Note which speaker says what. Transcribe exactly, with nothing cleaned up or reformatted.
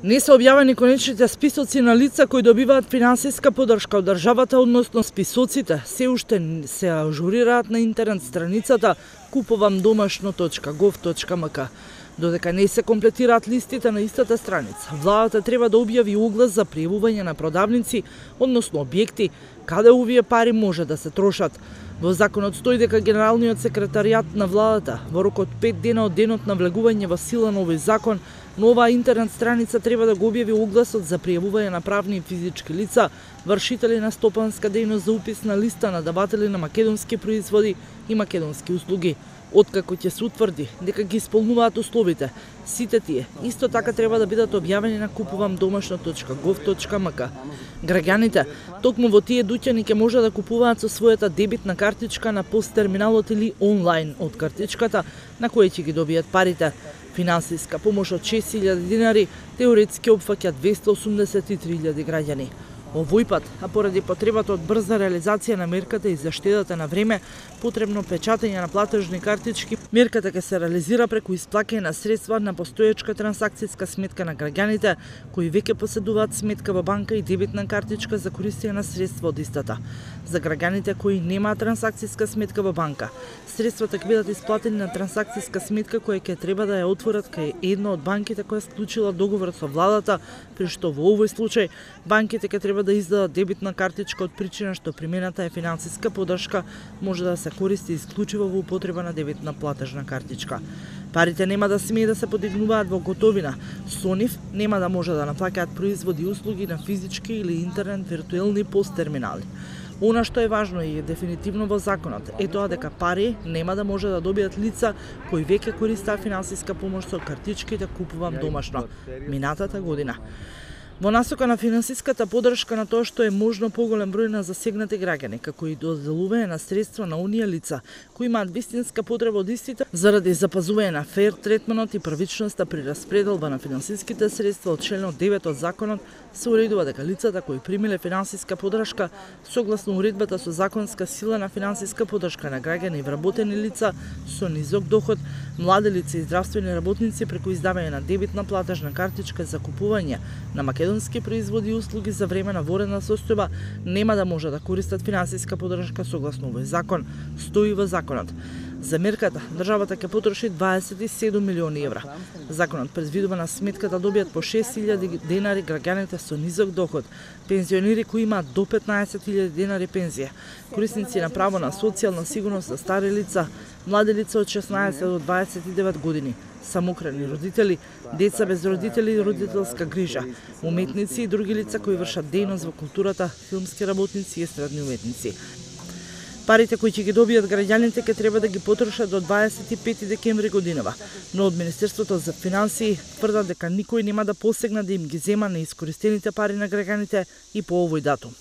Speaker 1: Не се објавени конечните списоци на лица кои добиваат финансиска поддршка од државата, односно списоците се уште се ажурираат на интернет страницата купувам домашно точка гов точка ем ка. Додека не се комплетираат листите на истата страница, владата треба да објави оглас за пријавување на продавници, односно објекти, каде овие пари може да се трошат. Во законот стои дека генералниот секретаријат на владата во рок од пет дена од денот на влегување во сила на овој закон, но оваа интернет страница треба да го објави огласот за пријавување на правни и физички лица, вршители на стопанска дејност за упис на листа на даватели на македонски производи и македонски услуги. Откако ќе се утврди дека ги исполнуваат условите, сите тие исто така треба да бидат објавени на купувам домашно точка гов точка ем ка. Граѓаните токму во тие дуќани ќе може да купуваат со својата дебитна картичка на пост терминалот или онлайн од картичката на која ќе ги добијат парите. Финансиска помош од шест илјади динари теоретски опфаќа двесте осумдесет и три илјади граѓани. Овој пат, а поради потребата од брза реализација на мерката и заштедата на време, потребно печатење на платежни картички, мерката ќе се реализира преку исплаќање на средства на постоечка трансакцијска сметка на граѓаните кои веќе поседуваат сметка во банка и дебитна картичка за користење на средства од истата. За граѓаните кои немаат трансакцијска сметка во банка, средствата ќе бидат исплатени на трансакцијска сметка која ќе треба да ја отворат кај една од банките која склучила договор со владата, при што во овој случај банките ќе треба да издадат дебитна картичка од причина што примената е финансиска поддршка може да се користи исклучиво во употреба на дебитна платежна картичка. Парите нема да смее да се подигнуваат во готовина. Со нив нема да може да наплаќаат производи и услуги на физички или интернет виртуелни пост терминали. Она што е важно и е дефинитивно во законот е тоа дека пари нема да може да добијат лица кои веќе користат финансиска помош со картичките купувам домашно минатата година. Во насока на финансиската поддршка на тоа што е можно поголем број на засегнати граѓани, како и доделување на средства на оние лица кои имаат вистинска потреба од истите заради запазување на фер третманот и првичноста при распределба на финансиските средства од членот девет од законот, се уредува дека лицата кои примиле финансиска поддршка согласно уредбата со законска сила на финансиска поддршка на граѓани и вработени лица со низок доход, млади лица и здравствени работници преку издавање на дебитна платежна картичка за купување на македонски производи и услуги за време на воредна состојба нема да може да користат финансиска поддршка согласно овој закон, стои во законот. За мерката, државата ќе потроши дваесет и седум милиони евра. Законот предвидува на сметката добијат по шест илјади денари граѓаните со низок доход, пензионери кои имаат до петнаесет илјади денари пензија, корисници на право на социјална сигурност за стари лица, млади лица од шеснаесет до дваесет и девет години, самокрени родители, деца без родители и родителска грижа, уметници и други лица кои вршат дејност во културата, филмски работници и естрадни уметници. Парите кои ќе ги добијат граѓаните ќе треба да ги потрошат до дваесет и пети декември годинава, но од Министерството за финансии тврдат дека никој нема да посегне да им ги зема неискористените пари на граѓаните и по овој датум.